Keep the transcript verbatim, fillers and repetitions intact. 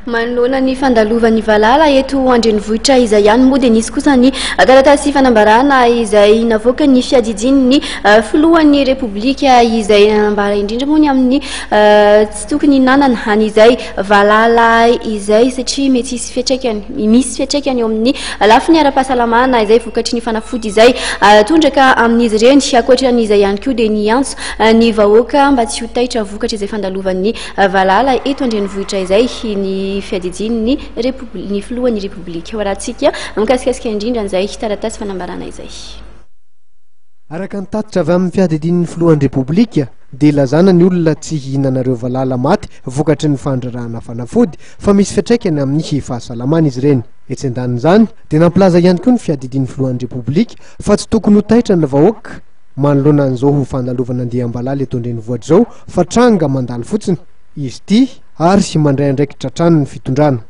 Manoloana ny fandalovan'ny valala eto andrenivohitra izay ihany moa, dia nisy kosa ny taratasy fanambarana izay navoaka ny fiadidian'ny filohan'ny Repoblika, izay nanambara indrindra moa ny amin'ny tsy tokony nanana an'izay valala izay, satria mety hisy fiatraikany, misy fiatraikany eo amin'ny lafiny ara-pahasalamana izay vokatry ny fanafody izay tondraka amin'izy ireny. Ankoatran'izay ihany koa, dia niantso ny vahoaka mba tsy ho taitra vokatra izay fandalovan'ny valala eto andrenivohitra izay ny fiadidian'ny Repobli- ny filohan'ny Repoblika. Ho arahantsika mikasikasika indrindra an'izay taratasy fanambarana izay. Araka ny tatitra avy amin'ny fiadidian'ny filohan'ny Repoblika, dia lazana ny olona tsy hihinanareo valala maty vokatry ny fandrarahana fanafody, fa misy fiatraikany amin'ny fahasalamana izy ireny. Etsy andanin'izany, dia nampilaza ihany koa ny fiadidian'ny filohan'ny Repoblika fa tsy tokony ho taitra ny vahoaka manoloana an'izao ho fandalovana andiam-balala eto andrenivohitra izao, fa tranga mandalo fotsiny izy ity ary mandray andraikitra hatrany ny fitondrana.